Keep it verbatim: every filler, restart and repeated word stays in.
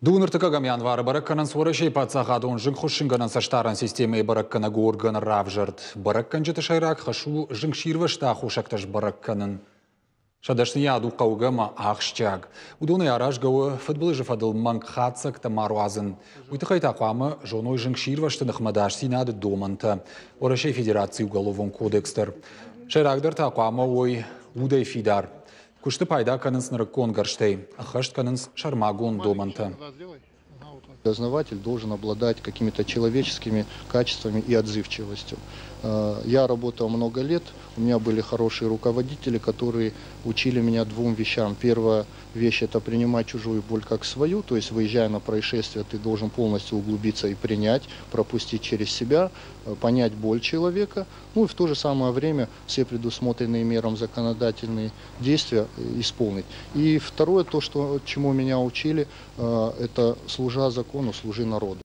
Дыууын ӕртыккӕгӕм январы бӕрӕг кӕнынц Уӕрӕсейы паддзахадон зынгхуыссынгӕнӕн цӕстдарӕн системӕйы бӕрӕггӕнӕг органы равзӕрд. Бӕрӕггӕнджыты сӕйраг хӕс у зынгсирвӕзты аххосӕгтӕ сбӕрӕг кӕнын. Сӕ дӕсныйад у хъӕугӕ ӕмӕ ахсджиаг. Уыдонӕй аразгӕ у фыдбылызы фӕдыл мӕнг хатдзӕгтӕ ма руадзын. Уый тыххӕй та хъуамӕ зоной зынгсирвӕзты ныхмӕ ӕдасдзинады домӕнтӕ. Уӕрӕсейы Федерацийы Уголовон кодекс дӕр. Сӕйрагдӕр та хъуамӕ уой удӕй фидар. Куысты пайда кӕнынц нырыккон гӕрзтӕй, ӕххӕст кӕнынц сӕрмагонд домӕнтӕ. Дознаватель должен обладать какими-то человеческими качествами и отзывчивостью. Э, я работал много лет, у меня были хорошие руководители, которые учили меня двум вещам. Первая вещь – это принимать чужую боль как свою, то есть выезжая на происшествие, ты должен полностью углубиться и принять, пропустить через себя, э, понять боль человека, ну и в то же самое время все предусмотренные мерам законодательные действия э, исполнить. И второе, то, что, чему меня учили, это служа закону, служи народу.